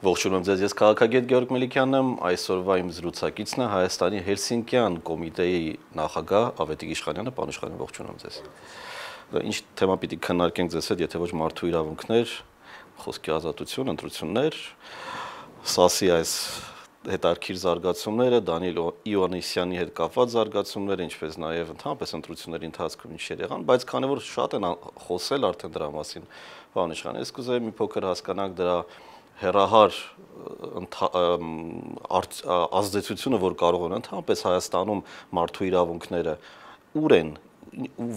Ողջունում ձեզ, ես քաղաքագետ Գեորգ Մելիքյանն եմ, այսօրվա իմ զրուցակիցն է Հայաստանի Հելսինկյան կոմիտեի նախագահ Ավետիք Իշխանյանը, պարոն Իշխանյան, ողջունում ձեզ։ Ինչ թեմա պիտի քննարկենք ձեզ հետ, եթե ոչ մարդու իրավունքներ, խոսքի ազատություն, ընտրություններ, ՍԱՍ-ի այս հետարքիր զարգացումները, Դանիել Իովանեսյանի հետ կապված զարգացումները, ինչպես նաև ընդհանրապես ընտրությունների ընթացքում ինչեր եղան, բայց քանի որ շատ են խոսել արդեն դրա մասին, պարոն Իշխանյան, ես կուզեի մի փոքր հասկանանք դրա հերահար ազդեցությունը, որ կարող են ընդհանրապես Հայաստանում մարդու իրավունքները, ուր են,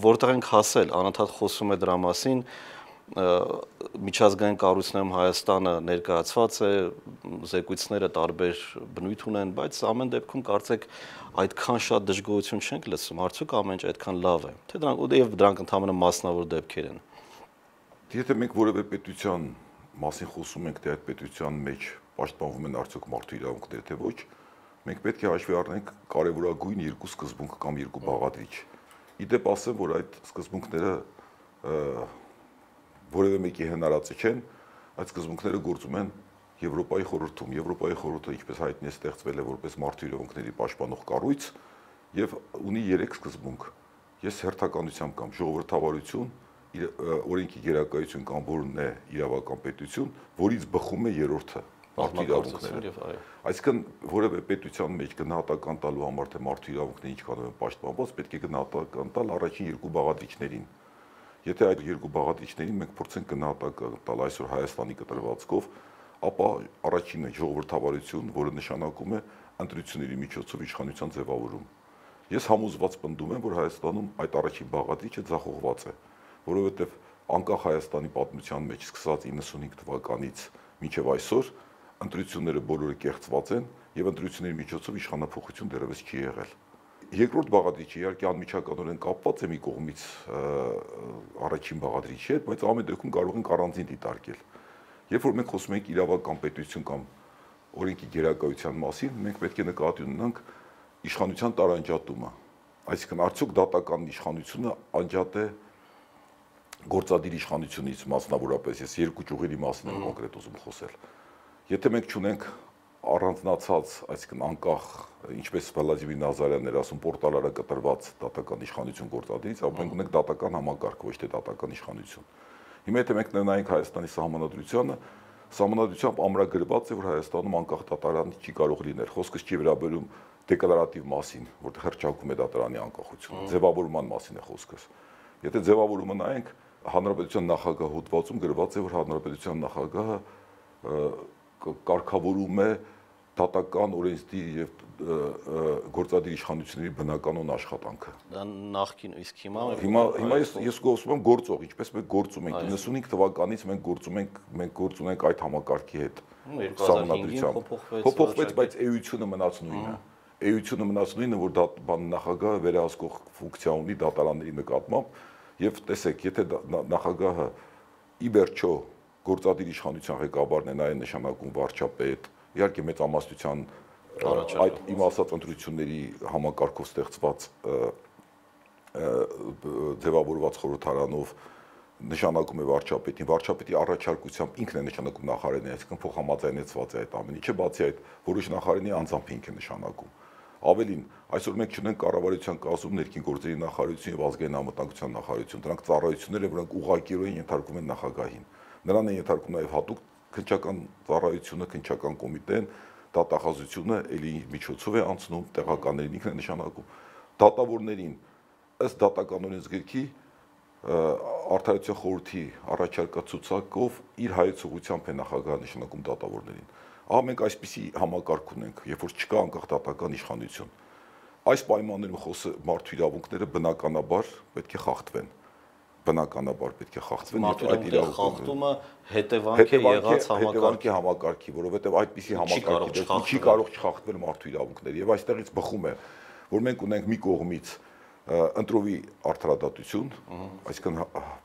որտեղ ենք հասել, անընդհատ խոսում է դրա մասին, միջազգային կառույցներում Հայաստանը ներկայացված է, զեկույցները տարբեր բնույթ ունեն, բայց ամեն դեպքում կարծեք այդքան շատ դժգոհություն չենք լսում, արդյոք ամեն ինչ այդքան լավ է, թե դրանք ընդհանրապես մասնավոր դեպքեր են։ Եթե մենք որևէ պետության մասին խոսում ենք, թե այդ պետության մեջ պաշտպանվում են արդյոք մարդու իրավունքները, թե ոչ, մենք պետք է հաշվի առնենք կարևորագույն երկու սկզբունք կամ երկու բաղադրիչ։ Իդեպ ասեմ, որ այդ սկզբունքները որևէ մեկի հնարածը չեն, այդ սկզբունքները գործում են Եվրոպայի խորհրդում։ Եվրոպայի խորհուրդը, ինչպես հայտնի է, ստեղծվել է որպես մարդու իրավունքների պաշտպանող կառույց եւ ունի 3 սկզբունք։ Ես հերթականությամբ կամ ժողովրդավարություն, օրենքի գերակայություն կամ որն է իրավական պետություն, որից բխում է երրորդը մարդու իրավունքները։ Այսինքն որևէ պետության մեջ գնահատական տալու համար թե մարդու իրավունքները ինչքանով են պաշտպանված, պետք է գնահատական տալ առաջին երկու բաղադրիչներին։ Եթե այդ երկու բաղադրիչներին մենք փորձենք գնահատական տալ այսօր Հայաստանի կտրվածքով, ապա առաջինը ժողովրդավարություն, որը նշանակում է ընտրությունների միջոցով իշխանության ձևավորում։ Ես համոզված պնդում եմ, որ Հայաստանում այդ առաջին բաղադրիչը ձախողված է, որովհետև անկախ Հայաստանի պատմության մեջ սկսած 95 թվականից մինչև այսօր ընտրությունները բոլորը կեղծված են եւ ընտրությունների միջոցով իշխանափոխություն դեռևս չի եղել։ Երկրորդ բաղադրիչը իհարկե անմիջականորեն կապված է մի կողմից առաջին բաղադրիչի հետ, բայց ամեն դեպքում կարող ենք առանձին դիտարկել։ Երբ որ մենք խոսում ենք իրավական պետություն կամ օրենքի գերակայության մասին, մենք պետք է նկատի ունենանք իշխանության տարանջատումը։ Այսինքն արդյոք դատական իշխանությունը անջատ է գործադիր իշխանությունից, մասնավորապես ես երկու ճյուղերի մասին եմ կոնկրետ ուզում խոսել։ Եթե մենք չունենք առանձնացած, այսինքն անկախ, ինչպես Վլադիմիր Նազարյանն էր ասում, պորտալարը կտրված դատական իշխանություն գործադիրից, ապա մենք ունենք դատական համակարգ, ոչ թե դատական իշխանություն։ Հիմա եթե մենք նայենք Հայաստանի սահմանադրությանը, սահմանադրությամբ ամրագրված է, որ Հայաստանում անկախ դատարան չի կարող լինել։ Խոսքս չի վերաբերում դեկլարատիվ մասին, որտեղ հռչակում է դատարանի անկախությունը, ձևավորման մասին է խոսքս։ Եթե ձևավորումը նայենք, Հանրապետության նախագահ հոդվածում գրված է, որ Հանրապետության նախագահը կարգավորում է դատական օրենսդիր եւ գործադիր իշխանությունների բնականոն աշխատանքը։ Դա նախքին, իսկ հիմա ես խոսում եմ գործող, ինչպես մենք գործում ենք 95 թվականից մենք գործում ենք այդ համակարգի հետ սահմանադրությամբ։ Փոփոխվեց, բայց էությունը մնաց նույնը։ Էությունը մնաց նույնը, որ նախագահը վերահսկող ֆունկցիա ունի դատարանների նկատմամբ եւ տեսեք, եթե նախագահը ի վերջո գործադիր իշխանության ղեկավարն է, նա է նշանակում վարչապետ, իհարկե մեծամասնության այդ իմ ասած ընտրությունների համակարգով ստեղծված ձևավորված խորհրդարանով նշանակում է վարչապետին, վարչապետի առաջարկությամբ ինքն է նշանակում նախարարին, այսինքն փոխհամաձայնեցված է այդ ամեն ինչը, բացի այդ որոշ նախարարի անձամբ ինքն է նշանակում։ Ավելին, այսօր մենք չունենք կառավարության կազմում ներքին գործերի նախարարություն եւ ազգային անվտանգության նախարարություն, դրանք ծառայություններ են, որոնք ուղղակիորեն ենթարկվում են նախագահին։ Նրան է ենթարկում նաև հատուկ քննչական ծառայությունը, քննչական կոմիտեն, դատախազությունը էլի միջոցով է անցնում, տեղականներին ինքն է նշանակում։ Դատավորներին ըստ դատական օրենսգրքի Արդարության խորհրդի առաջարկացուցակով իր հայեցողությամբ է նախագահը նշանակում դատավորներին։ Ահա մենք այսպիսի համակարգ ունենք, երբ որ չկա անկախ դատական իշխանություն։ Այս պայմաններում մարդու իրավունքները բնականաբար պետք է խախտվեն։ Բնականաբար պետք է խախտվեն եւ այդ իրավունքները հետևանք է եղած համակարգի, որովհետեւ այդպիսի համակարգի չի կարող չխախտվել մարդու իրավունքները եւ այստեղից բխում է, որ մենք ունենք մի կողմից ընտրովի արդարադատություն, այսինքն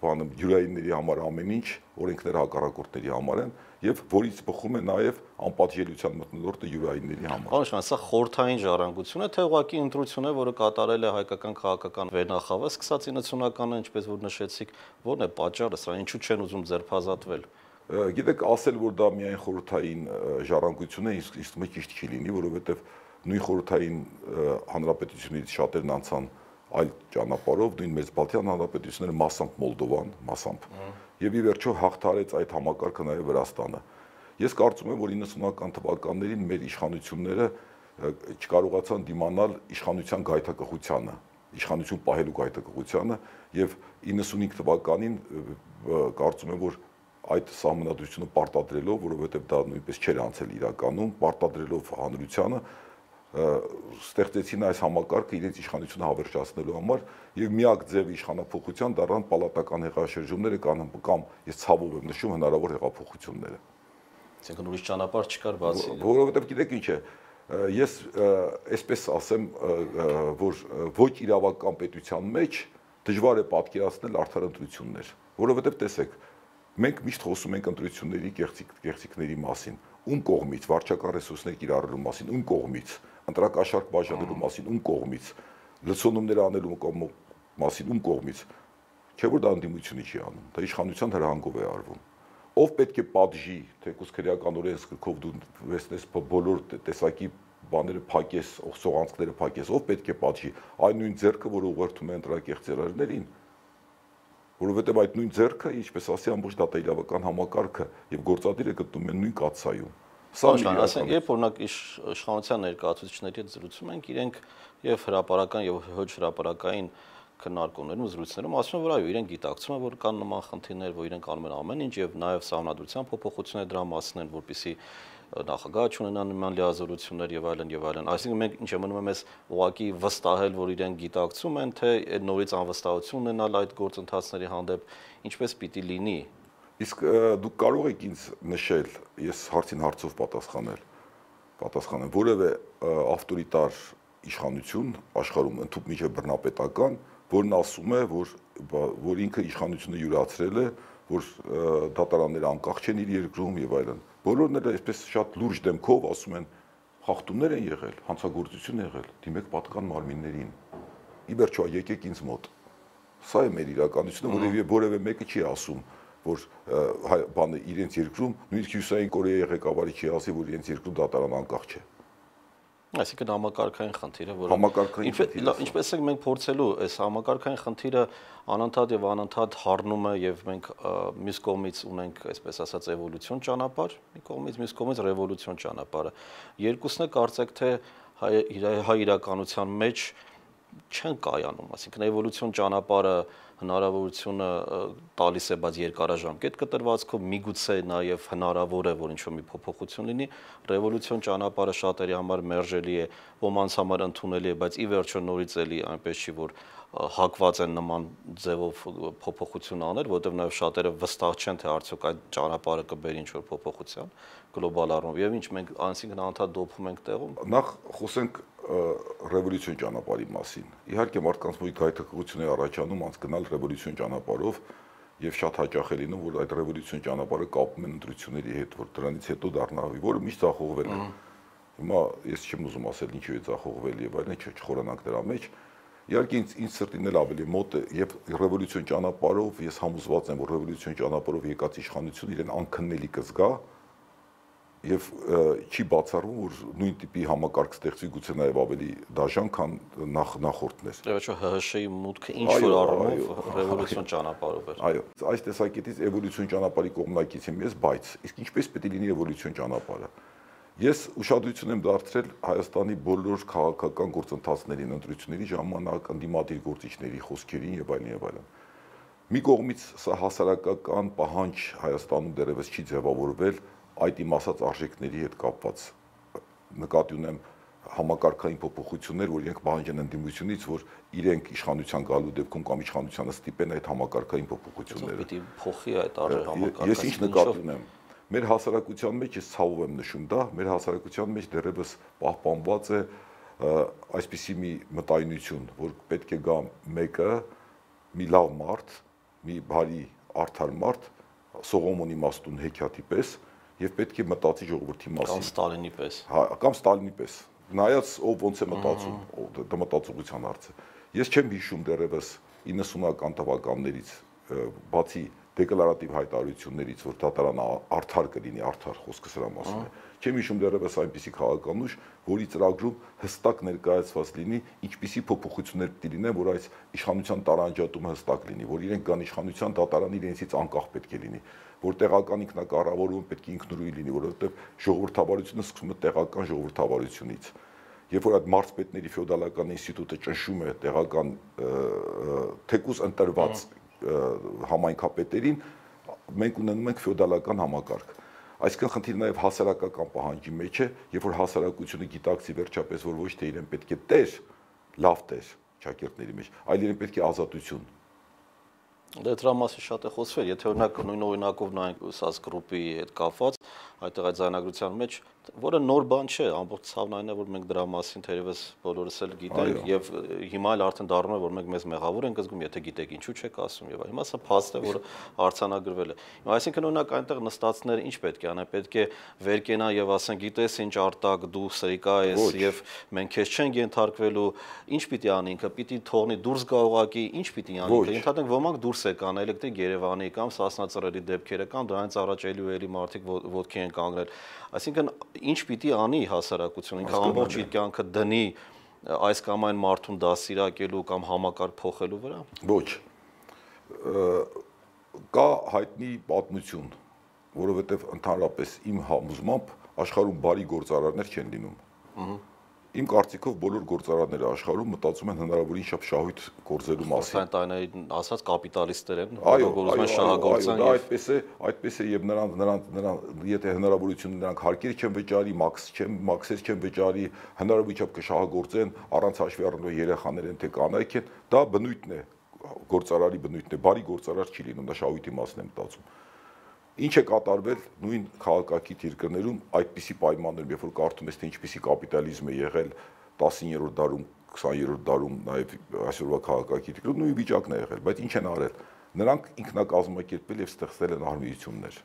բանը յուրայինների համար ամեն ինչ, օրենքները հակառակորդների համար են եւ որից բխում է նաեւ անպատժելիության մթնոլորտը յուրայինների համար։ Պարոն, սա խորհրդային ժառանգություն է, թե ուղղակի ընտրություն է, որը կատարել է հայկական քաղաքական վերնախավը, սկսած 90-ականն, ինչպես որ նշեցիք, ո՞րն է պատճառը, սա ինչու չեն ուզում ձերբազատվել։ Գիտեք, ասել, որ դա միայն խորհրդային ժառանգություն է, իսկ ճիշտ չի լինի, որովհետև նույն խորհրդային հանրապետությունից շատերն անցան այլ ճանապարհով, նույն Մեծբալթյան հանրապետությունները մասամբ Մոլդովան, մասամբ։ Եվ ի վերջո հաղթարեց այդ համակարգը նաև Վրաստանը։ Ես կարծում եմ, որ 90-ական թվականներին մեր իշխանությունները չկարողացան դիմանալ իշխանության գայթակղությանը, իշխանություն պահելու գայթակղությանը, եւ 95 թվականին կարծում եմ, որ այդ սահմանադրությունը պարտադրելով, որովհետև դա նույնպես չէր անցել իրականում, պարտադրելով հանրությանը, ստեղծեցին այս համակարգը իրենց իշխանությունը հավերժացնելու համար եւ միակ ձև իշխանափոխության դառան պալատական հեղաշրջումները կամ ես ցավով եմ նշում հնարավոր հեղափոխությունները։ Այսինքն ուրիշ ճանապարհ չկար բացի։ Որովհետև գիտեք ինչ է, ես այսպես ասեմ, որ ոչ իրավական պետության մեջ դժվար է պատկերացնել արդար ընտրություններ, որովհետև տեսեք, մենք միշտ խոսում ենք ընտրությունների կեղծիքների մասին, ում կողմից, վարչական ռեսուրսներ կիրառելու մասին, ում կողմից, ընտրակաշարք բաժանելու մասին, ում կողմից, լցոնումներ անելու մասին, ում կողմից, չէ որ դա ընդդիմությունը չի անում, դա իշխանության հրահանգով է արվում։ Ով պետք է պատժի, թեկուզ քրեական օրենսգրքով դու վերցնես բոլոր տեսակի բաները փակես, սողանցքները փակես, ով պետք է պատժի, այն նույն ձեռքը, որը ուղղորդում է ընտրակեղծ ծրագրերին, որովհետև այդ նույն ձեռքը, ինչպես ասի, ամբողջ դատաիրավական համակարգը եւ գործադիրը գտնում են նույն կաթսայում։ Սա ասենք, երբ օրինակ իշխանության ներկայացուցիչների հետ զրուցում ենք, իրենք եւ հրապարական եւ ոչ հրապարակային քննարկումներում, զրույցներում ասում են, որ այո, իրենք գիտակցում են, որ կան նման խնդիրներ, որ իրենք անում են ամեն ինչ եւ նաեւ սահմանադրության փոփոխություններ դրա մասին են, որպեսզի նախագահ չունենա նման լիազորություններ եւ այլն եւ այլն։ Այսինքն մենք ինչ է մնում է մեզ ուղղակի վստահել, որ իրենք գիտակցում են, թե նորից անվստահություն ունենալ այդ գործընթացների հանդեպ, ինչպես պիտի լինի։ Իսկ դուք կարող եք ինձ նշել, ես հարցին հարցով պատասխանեմ, որևէ ավտորիտար իշխանություն աշխարհում ընդհանուր միջև բռնապետական, որն ասում է, որ ինքը իշխանությունը յուրացրել է, որ դատարանները անկախ չեն իր երկրում եւ այլն։ Բոլորն էլ այսպես շատ լուրջ դեմքով ասում են, խախտումներ են եղել, հանցագործություն է եղել, դիմեք պատկան մարմիններին։ Ի վերջո եկեք ինձ մոտ։ Սա է մեր իրականությունը, որևէ մեկը չի ասում, որ բանը իրենց երկրում, նույնիսկ Հյուսիսային Կորեայի ղեկավարի չի ասի, որ իրենց երկրում դատարան անկախ չէ։ Այսինքն համակարգային խնդիրը, որը ինչպես ենք մենք փորձելու այս համակարգային խնդիրը անընդհատ եւ անընդհատ հառնում է եւ մենք մյուս կողմից ունենք, այսպես ասած, էվոլյուցիոն ճանապարհ, մի կողմից մյուս կողմից ռևոլյուցիոն ճանապարհը։ Երկուսն է կարծեք թե հայ իրականության մեջ չեն կայանում, այսինքն էվոլյուցիոն ճանապարհը հնարավորությունը տալիս է, բայց երկարաժամկետ կտրվածքով միգուցե նաև հնարավոր է, որ ինչ-որ մի փոփոխություն լինի, ռևոլյուցիոն ճանապարհը շատերի համար մերժելի է, ոմանց համար ընդունելի է, բայց ի վերջո նորից էլի այնպես չի, որ հակված են նման ձևով փոփոխություն անել, որովհետև նաև շատերը վստահ չեն, թե արդյոք այդ ճանապարհը կբերի ինչ-որ փոփոխության գլոբալ առումով, եւ ինչ մենք անցինքն անդադ դոփում ենք տեղում։ Նախ խոսենք ռևոլյուցիոն ճանապարհի մասին։ Իհարկե մարդկանց մի գայթակղություն է առաջանում անց գնալ ռևոլյուցիոն ճանապարհով եւ շատ հաճախ է լինում, որ այդ ռևոլյուցիոն ճանապարհը կապում են ընտրությունների հետ, որ դրանից հետո դառնա, որը միշտ ձախողվել է։ Հիմա ես չեմ ուզում ասել ինչու է ձախողվել եւ այլն, չխորանանք դրա մեջ։ Իհարկե ինձ սրտին էլ ավելի մոտ է եւ ռևոլյուցիոն ճանապարհով ես համոզված եմ, որ ռևոլյուցիոն ճանապարհով եկած իշխանությունը իրեն անքննելի կզգա եւ չի բացառվում, որ նույն տիպի համակարգ ստեղծվի գուցե նաեւ ավելի դաժան, քան նախորդներ։ Եվ ՀՀՇ-ի մուտքը ինչ որ առումով ռևոլյուցիոն ճանապարհով էր։ Այո, այս տեսակետից էվոլյուցիոն ճանապարհի կողմնակից եմ ես, բայց իսկ ինչպես պետք է լինի էվոլյուցիոն ճանապարհը։ Ես ուշադրություն եմ դարձրել Հայաստանի բոլոր քաղաքական գործընթացներին, ընտրությունների ժամանակ ընդդիմադիր գործիչների խոսքերին եւ այլն եւ այլն։ Մի կողմից սա հասարակական պահանջ Հայաստանում դեռևս չի ձևավորվել այդ իմ ասած արժեքների հետ կապված, նկատի ունեմ համակարգային փոփոխություններ, որ իրենք պահանջեն ընդդիմությունից, որ իրենք իշխանության գալու դեպքում կամ իշխանությանը ստիպեն այդ համակարգային փոփոխությունները։ Պիտի փոխի այդ համակարգը։ Ես ինչ նկատի ունեմ, մեր հասարակության մեջ ես ցավով եմ նշում դա, մեր հասարակության մեջ դեռևս պահպանված է այսպիսի մի մտայնություն, որ պետք է գա մեկը, մի լավ մարդ, մի բարի արդար մարդ, Սողոմոնի իմաստուն հեքիաթի պես, եւ պետք է մտածի ժողովրդի մասին։ Կամ Ստալինի պես։ Հա, կամ Ստալինի պես։ Նայած ով ոնց է մտածում, դա մտածողության հարց է։ Ես չեմ հիշում դեռևս 90-ական թվականներից, բացի դեկլարատիվ հայտարարություններից, որ դատարանը արդար կլինի, արդար խոսքը սրա մասին է։ Չեմ հիշում դեռևս այնպիսի քաղաքանուշ, որի ծրագրում հստակ ներկայացված լինի, ինչպիսի փոփոխություններ պետք է լինեն, որ այս իշխանության տարանջատումը հստակ լինի, որ իրենք կան իշխանության, դատարանը իրենցից անկախ պետք է լինի, որ տեղական ինքնակառավարումը պետք է ինքնուրույն լինի, որովհետև ժողովրդավարությունը սկսում է տեղական ժողովրդավարությունից։ Երբ որ այդ մարզպետների ֆեոդալական ինստիտուտը ճնշում է տեղական թեկուզ ընտրված համայնքապետերին, մենք ունենում ենք ֆեոդալական համակարգ։ Այսինքն խնդիրը նաև հասարակական պահանջի մեջ է, երբ որ հասարակությունը գիտակցի վերջապես, որ ոչ թե իրեն պետք է տեր, լավ տեր ճակերտների մեջ, այլ իրեն պետք է ազատություն։ Դրա մասին շատ է խոսվել, եթե օրինակ նույն օրինակով նայենք SAS Group-ի հետ կապված, այդտեղ այդ զայնագրության մեջ, որը նոր բան չէ, ամբողջ ցավն այն է, որ մենք դրա մասին թերևս բոլորս էլ գիտենք եւ հիմա էլ արդեն դառնում է, որ մենք մեզ մեղավոր ենք զգում, եթե գիտեք ինչու չեք ասում եւ հիմա սա փաստ է, որ արձանագրվել է։ Այսինքն օրինակ այնտեղ նստածները ինչ պետք է անեն, պետք է վեր կենան եւ ասեն, գիտես ինչ արտակ դու սրիկա ես եւ մենք քեզ չենք ենթարկվելու, ինչ պիտի անի ինքը, պիտի թողնի դուրս գա ուղակի, ինչ պիտի անի ինքը, ընդհանրենք ոմանք դուրս եկան էլեկտրիկ Երևանի կամ Սասնածռերի դեպքերը կամ դրանից առաջ էլի ու էլի մարդիկ ոտքի են կանգնել։ Այսինքն ինչ պիտի անի հասարակությունը, ինքը ամբողջ իր կյանքը դնի այս կամ այն մարդուն դասիրակելու կամ համակարգ փոխելու վրա։ Ոչ։ Կա հայտնի պատմություն, որովհետև ընդհանրապես իմ համոզմամբ աշխարհում բարի գործարարներ չեն լինում։ Իմ կարծիքով բոլոր գործարանները աշխարհում մտածում են հնարավորին շատ շահույթ գործելու մասին։ Այդ այն ասած կապիտալիստներ են, որոնք ուզում են շահագործեն։ Այդպես է եւ նրան եթե հնարավորություն նրանք հարկեր չեն վճարի, մաքսեր չեն վճարի, հնարավորությամբ կշահագործեն, առանց հաշվի առնելու երեխաներ են թե կանայք են, դա բնույթն է, գործարարի բնույթն է, բարի գործարար չի լինում, դա շահույթի մասն է մտածում։ Ինչ է կատարվել նույն քաղաքակիրթ երկրներում այդպիսի պայմաններում, երբ որ կարդում ես թե ինչպիսի կապիտալիզմ է եղել 19-րդ դարում, 20-րդ դարում, նաև այսօրվա քաղաքակիրթ երկրներում նույն վիճակն է եղել, բայց ինչ են արել։ Նրանք ինքնակազմակերպել եւ ստեղծել են արմիություններ։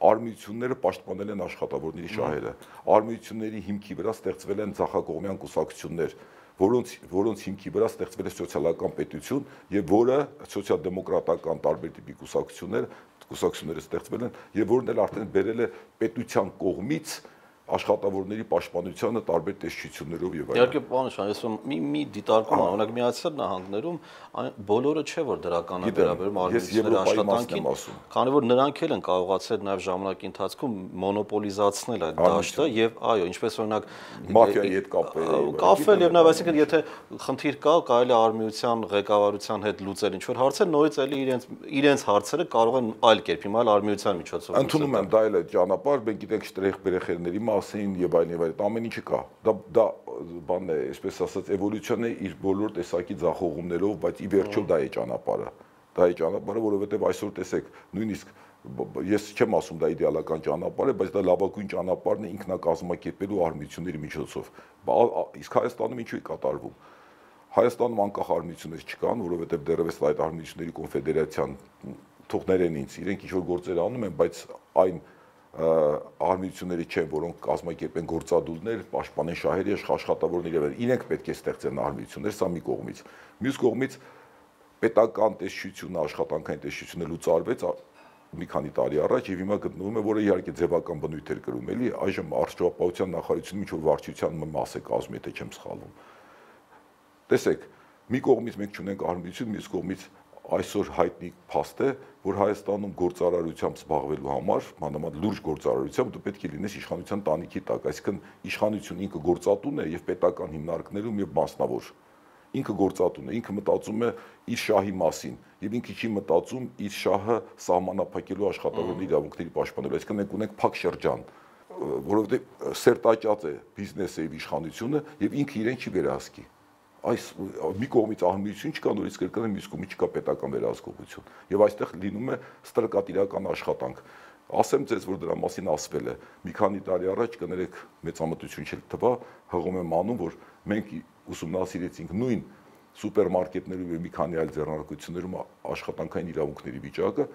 Արմիությունները պաշտպանել են աշխատավորների շահերը։ Արմիությունների հիմքի վրա ստեղծվել են ձախակողմյան կուսակցություններ, որոնց հիմքի վրա ստեղծվել է սոցիալական պետություն եւ որը սոցիալ-դեմոկրատական տարբեր տիպի կուսակցությունները ստեղծվել են եւ որն էլ արդեն բերել է պետության կողմից աշխատավորների պաշտպանությանը տարբեր տեսչություններով եւ այլն։ Իհարկե, պարոն Շան, ես մի դիտարկում եմ, օրինակ Միացյալ Նահանգներում բոլորը չէ որ դրական է վերաբերում արմիությունների աշխատանքին, քանի որ նրանք էլ են կարողացել նաեւ ժամանակի ընթացքում մոնոպոլիզացնել այդ դաշտը եւ այո, ինչպես օրինակ մաֆիայի հետ կապել եւ նաեւ այսինքն եթե խնդիր կա, կարելի է արմիության ղեկավարության հետ լուծել ինչ որ հարցեր, նորից էլի իրենց հարցերը կարող են այլ կերպ հիմա արմիության միջոցով ընդունում եմ, դա էլ է ճանապարհ, մենք գիտենք շտրեխ-բերեխերների մասին եւ այլն, ամեն ինչը կա։ Դա բանն է, այսպես ասած, էվոլյուցիան է իր բոլոր տեսակի ձախողումներով, բայց ի վերջո դա է ճանապարհը։ Դա է ճանապարհը, որովհետեւ այսօր տեսեք, նույնիսկ ես չեմ ասում դա իդեալական ճանապարհ է, բայց դա լավագույն ճանապարհն է ինքնակազմակերպելու արմիությունների միջոցով։ Իսկ Հայաստանում ինչու է կատարվում։ Հայաստանում անկախ արմիություններ չկան, որովհետեւ դեռևս այդ արմիությունների կոնֆեդերացիան թողներեն ինձ, իրենք ինչ որ գործեր անում են, բայց այն արմիությունների չեն, որոնք կազմակերպեն գործադուլներ, պաշտպանեն շահերի աշխատավորների եւ իրենք պետք է ստեղծեն արմիություններ, սա մի կողմից։ Մյուս կողմից պետական տեսչությունը, աշխատանքային տեսչությունը լուծարվեց մի քանի տարի առաջ եւ հիմա գտնվում է, որը իհարկե ձևական բնույթ էր կրում, էլի այժմ առողջապահության նախարարությունում ինչ որ վարչության մաս է կազմում, եթե չեմ սխալվում։ Տեսեք, մի կողմից մենք չունենք արմիություն, մյուս կողմից այսօր հայտնի փաստ է, որ Հայաստանում գործարարությամբ զբաղվելու համար, մանավանդ լուրջ գործարարությամբ դու պետք է լինես իշխանության տանիքի տակ, այսինքն իշխանությունը ինքը գործատուն է եւ պետական հիմնարկներում եւ մասնավոր։ Ինքը գործատուն է, ինքը մտածում է իր շահի մասին եւ ինքը չի մտածում իր շահը սահմանափակելու աշխատավորների իրավունքների պաշտպանելու, այսինքն մենք ունենք փակ շրջան, որովհետեւ սերտաճած է բիզնեսը եւ իշխանությունը եւ ինքը իրեն չի վերահսկի։ Այս մի կողմից արմիություն չկա, նորից կրկնեմ, մյուս կողմից չկա պետական վերահսկողություն եւ այստեղ լինում է ստրկատիրական աշխատանք։ Ասեմ ձեզ, որ դրա մասին ասվել է մի քանի տարի առաջ, կներեք, մեծամտություն չէ թվա, հղում եմ անում, որ մենք ուսումնասիրեցինք նույն սուպերմարկետներում եւ մի քանի այլ ձեռնարկություններում աշխատանքային իրավունքների վիճակը,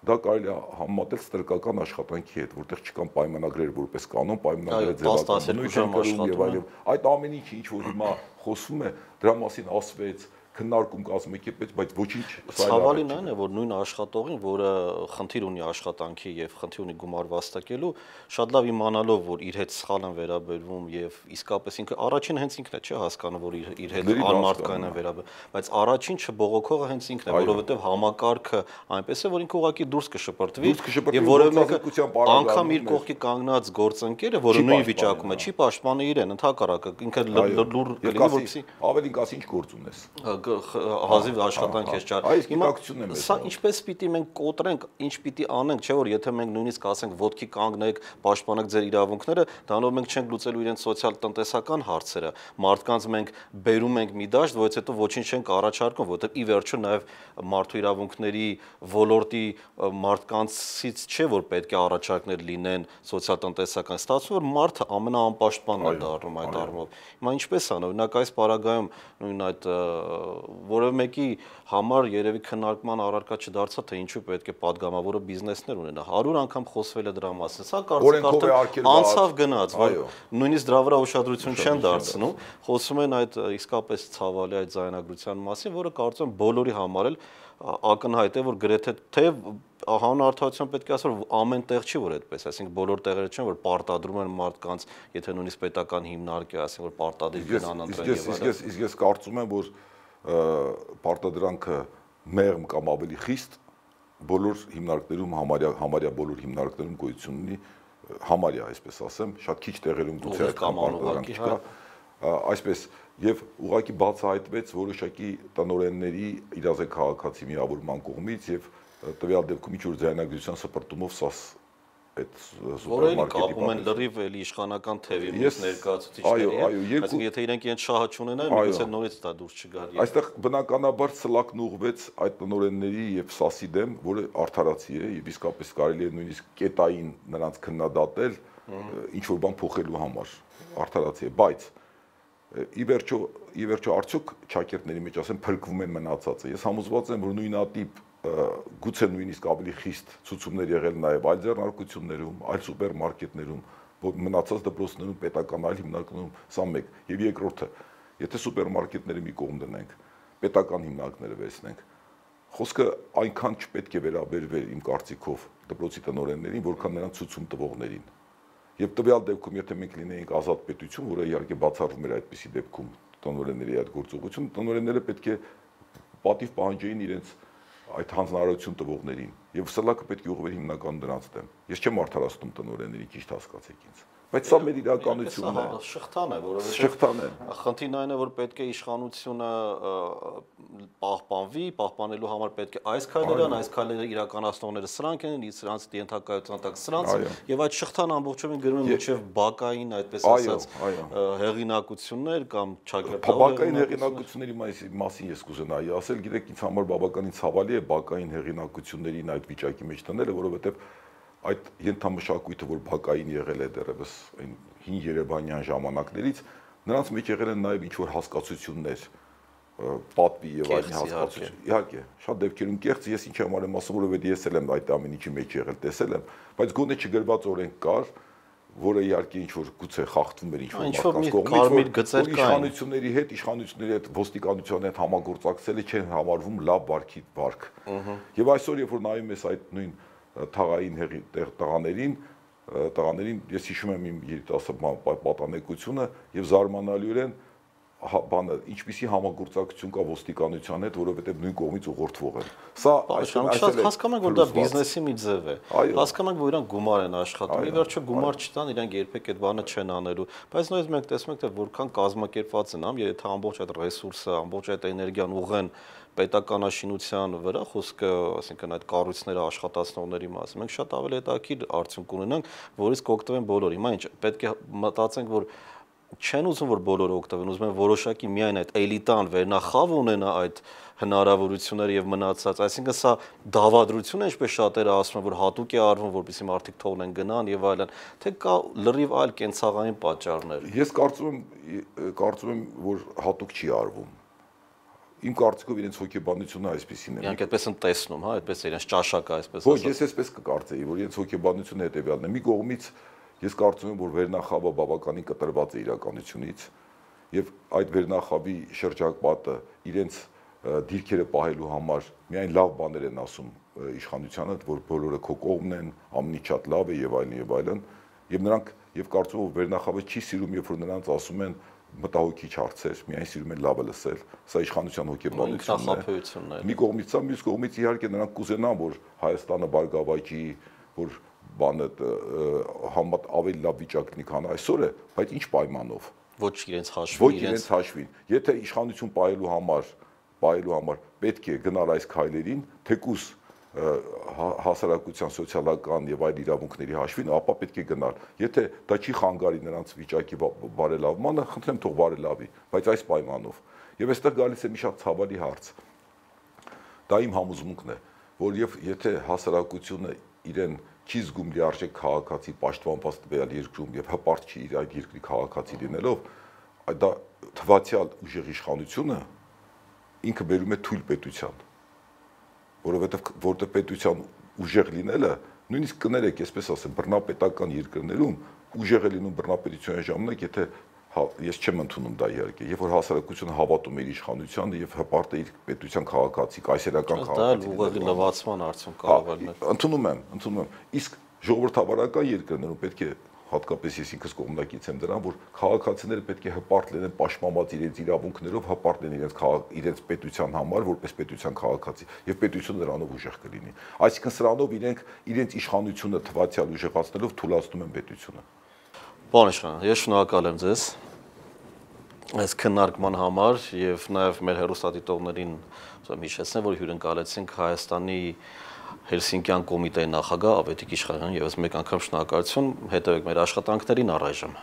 դա կարելի է համեմատել ստրկական աշխատանքի հետ, որտեղ չկան պայմանագրեր որպես կանոն, պայմանագրերը ձևական բնույթ են կրում եւ այլն։ Այդ ամեն ինչը ինչ որ հիմա խոսվում է, դրա մասին ասվեց, քննարկում կազմեք, բայց ոչինչ ցավալին այն է, որ նույն աշխատողին, որը խնդիր ունի աշխատանքի եւ խնդիր ունի գումար վաստակելու, շատ լավ իմանալով, որ իր հետ սխալ են վերաբերվում եւ իսկապես ինքը առաջին հենց ինքն է, չէ, հասկանում, որ իր հետ անմարդկային են վերաբերվում, բայց առաջին չբողոքողը հենց ինքն է, որովհետեւ համակարգը այնպես է, որ ինքը ուղղակի դուրս կշպրտվի եւ որևէ մեկը անգամ իր կողքի կանգնած գործընկերը, որը նույն վիճակում է, չի պաշտպանի իրեն, ընդհակառակը ինքը լուր կլինի, որպեսզի ավելին կասի ինչ գործ ունես։ Հազիվ աշխատանք ես ճար։ Սա ինչպես պիտի մենք կոտրենք, ինչ պիտի անենք, չէ՞ որ եթե մենք նույնիսկ ասենք ոտքի կանգնեք, պաշտպանեք ձեր իրավունքները, դրանով մենք չենք լուծելու իրենց սոցիալ-տնտեսական հարցերը։ Մարդկանց մենք բերում ենք մի դաշտ, որից հետո ոչինչ չենք առաջարկում, որովհետև ի վերջո նաև մարդու իրավունքների ոլորտի մարդկանցից չէ որ պետք է առաջարկներ լինեն սոցիալ-տնտեսական, ստացվում որ մարդը ամենաանպաշտպանն է դառնում այդ առումով։ Հիմա ինչպես ան, օրինակ այս պարագայում նույն այդ որևէ մեկի համար երևի քննարկման առարկա չդարձա թե ինչու պետք է падգամավորը բիզնեսներ ունենա 100 անգամ խոսվել է դրա մասին, սա կարծիք անցավ գնաց, որ նույնիսկ դրա վրա ուշադրություն չեն դարձնում, խոսում են այդ իսկապես ցավալի այդ ձայնագրության մասին, որը կարծում եմ բոլորի համար էլ ակնհայտ է, որ գրեթե թե հանուն արդարության պետք է ասել, որ ամեն տեղ չի որ այդպես, այսինքն բոլոր տեղերը չեն որ պարտադրում են մարդկանց, եթե նույնիսկ պետական հիմնարկ է, ասենք որ պարտադիր գնան ընտրեն եւ այլն։ Իսկ ես կարծում եմ, որ պարտադրանքը մեղմ կամ ավելի խիստ բոլոր հիմնարկներում համարյա բոլոր հիմնարկներում գոյություն ունի, համարյա, այսպես ասեմ, շատ քիչ տեղերում գուցե այդքան պարտադրանք չկա, այսպես եւ ուղղակի բացահայտվեց որոշակի տնօրենների իրազեկ քաղաքացի միավորման կողմից եւ տվյալ դեպքում ինչ որ ձայնագրության սպրտումով սաս այդ սուպերմարկետի կապում են լրիվ էլի իշխանական թևի մյուս ներկայացուցիչների, այսինքն եթե իրենք իրենց շահը չունենան, միգուցե նորից դա դուրս չգար։ Այստեղ բնականաբար սլակն ուղղվեց այդ տնօրենների եւ սասի դեմ, որը արդարացի է եւ իսկապես կարելի է նույնիսկ կետային նրանց քննադատել ինչ որ բան փոխելու համար, արդարացի է, բայց ի վերջո արդյոք ճակերտների մեջ ասեմ փրկվում են մնացածը։ Ես համոզված եմ, որ նույնատիպ գուցե նույնիսկ ավելի խիստ ցուցումներ եղել նաև այլ ձեռնարկություններում, այլ սուպերմարկետներում, մնացած դպրոցներում, պետական այլ հիմնարկներում, սա մեկ։ Եվ երկրորդը, եթե սուպերմարկետները մի կողմ դնենք, պետական հիմնարկները վերցնենք, խոսքը այնքան չպետք է վերաբերվեր իմ կարծիքով դպրոցի տնօրեններին, որքան նրանց ցուցում տվողներին։ Եվ տվյալ դեպքում, եթե մենք լինեինք ազատ պետություն, որը իհարկե բացառվում էր այդպիսի դեպքում տնօրենների այդ գործողություն, տնօրենները պետք է պատիվ պահանջեին իրենց այդ հանձնարարություն տվողներին եւ սլակը պետք է ուղղվեր հիմնականում դրանց դեմ։ Ես չեմ արդարացնում տնօրենների, ճիշտ հասկացեք ինձ։ Բայց սա մեր իրականությունն է։ Շղթան է, որովհետեւ խնդիրն այն է, որ պետք է իշխանությունը պահպանվի, պահպանելու համար պետք է այս քայլերը իրականացնողները սրանք են, սրանց ենթակայության տակ սրանց եւ այդ շղթան ամբողջովին գրում են մինչեւ բակային, այդպես ասած, հեղինակություններ կամ չակերտավոր բակային հեղինակությունների մասին ես կուզենայի ասել, գիտեք, ինձ համար բավականին ցավալի է բակային հեղինակություններին այդ վիճակի մեջ տնելը, որովհետեւ այդ ենթամշակույթը, որ բակային եղել է դեռևս այն հին երևանյան ժամանակներից, նրանց մեջ եղել են նաև ինչ-որ հասկացություններ, պատվի եւ այլ հասկացություն։ Իհարկե, շատ դեպքերում կեղծ, ես ինչ եմ արել ասում, որովհետեւ ես էլ եմ այդ ամեն ինչի մեջ եղել, տեսել եմ, բայց գոնե չգրված օրենք կար, որը իհարկե ինչ-որ գուցե խախտվում էր ինչ-որ մարդկանց կողմից, իշխանությունների հետ ոստիկանության հետ համագործակցելը չեն համարվում լավ վարքի վարք։ Եվ այսօր, երբ որ նայում ես այդ նույն թաղային տղաներին ես հիշում եմ իմ երիտասարդ պատանեկությունը եւ զարմանալիորեն բանը ինչպիսի համագործակցություն կա ոստիկանության հետ, որովհետեւ նույն կողմից ուղղորդվող են։ Սա այսօր հասկանում ենք, որ դա բիզնեսի մի ձև է։ Հասկանում ենք, որ իրանք գումար են աշխատում, ի վերջո գումար չտան, իրանք երբեք այդ բանը չեն անելու։ Բայց նույնիսկ մենք տեսնում ենք, թե որքան կազմակերպված են, եթե ամբողջ այդ ռեսուրսը, ամբողջ այդ էներգիան ուղղեն պետականաշինության վրա, խոսքը, ասենքն այդ կառույցները աշխատացնողների մասին, մենք շատ ավելի հետաքրքիր արդյունք ունենանք, որից կօգտվեն բոլորը։ Հիմա ինչ, պետք է մտածենք, որ չեն ուզում, որ բոլորը օգտվեն, ուզում են որոշակի միայն այդ էլիտան վերնախավ ունենա այդ հնարավորությունները եւ մնացած, այսինքն սա դավադրություն է, ինչպես շատերը ասում են, որ հատուկ է արվում, որպեսզի մարդիկ թողնեն գնան եւ այլն, թե կա լրիվ այլ կենցաղային պատճառներ։ Ես կարծում եմ, որ հատուկ չի արվում։ Իմ կարծիքով իրենց հոգեբանությունը այսպեսին է։ Իրանք այդպես են տեսնում, հա, այդպես իրենց ճաշակը այսպես ասած։ Ոչ, ես այսպես կկարծեի, որ իրենց հոգեբանությունը հետեւյալն է։ Մի կողմից ես կարծում եմ, որ վերնախավը բավականին կտրված է իրականությունից եւ այդ վերնախավի շրջապատը իրենց դիրքերը պահելու համար միայն լավ բաներ են ասում իշխանությանը, որ բոլորը քո կողմն են, ամենից շատ լավ է եւ այլն եւ այլն, եւ նրանք եւ կարծում եմ որ վերնախավը չի սիրում, երբ որ նրանց ասում են մտահոգիչ հարցեր, միայն սիրում են լավը լսել, սա իշխանության հոգեբանությունն է։ Մի կողմից սա, մյուս կողմից իհարկե նրանք կուզենան, որ Հայաստանը բարգավաճի, որ բանը ավելի լավ վիճակ լինի, քան այսօր է, բայց ինչ պայմանով։ Ոչ իրենց հաշվին։ Եթե իշխանություն պահելու համար պետք է գնալ այս քայլերին, թեկուզ հասարակության սոցիալական եւ այլ իրավունքների հաշվին, ապա պետք է գնալ։ Եթե դա չի խանգարի նրանց վիճակի բարելավմանը, խնդրեմ թող բարելավի, բայց այս պայմանով։ Եվ այստեղ գալիս է մի շատ ցավալի հարց։ Դա իմ համոզմունքն է, որ եթե հասարակությունը իրեն չի զգում լիարժեք քաղաքացի պաշտպանված տվյալ երկրում եւ հպարտ չի իր այդ երկրի քաղաքացի լինելով, դա թվացial ուժեղ իշխանությունը ինքը բերում է թույլ պետության, որովհետեւ պետության ուժեղ լինելը, նույնիսկ կներեք, այսպես ասեմ, բռնապետական երկրներում ուժեղ է լինում բռնապետության ժամանակ, եթե ես չեմ ընդունում դա իհարկե, երբ որ հասարակությունը հավատում է իր իշխանությանը եւ հպարտ է իր պետության քաղաքացի, կայսերական քաղաքացի։ Դա ուղղակի լվացման արդյունք կարող է լինել։ Ընդունում եմ։ Իսկ ժողովրդավարական երկրներում պետք է հատկապես ես ինքս կողմնակից եմ դրան, որ քաղաքացիները պետք է հպարտ լինեն պաշտպանված իրենց իրավունքներով, հպարտ լինեն իրենց պետության համար, որպես պետության քաղաքացի, եւ պետությունը նրանով ուժեղ կլինի։ Այսինքն սրանով իրենց իշխանությունը թվացial ուժեղացնելով թուլացնում են պետությունը։ Պարոն իշխան, ես շնորհակալ եմ ձեզ այս քննարկման համար եւ նաեւ մեր հեռուստադիտողներին հիշեցնեմ, որ հյուրընկալեցինք Հայաստանի Հելսինկյան կոմիտեի նախագահ Ավետիք Իշխանյանին, եւս մեկ անգամ շնորհակալություն, հետեւեք մեր աշխատանքներին առայժմ։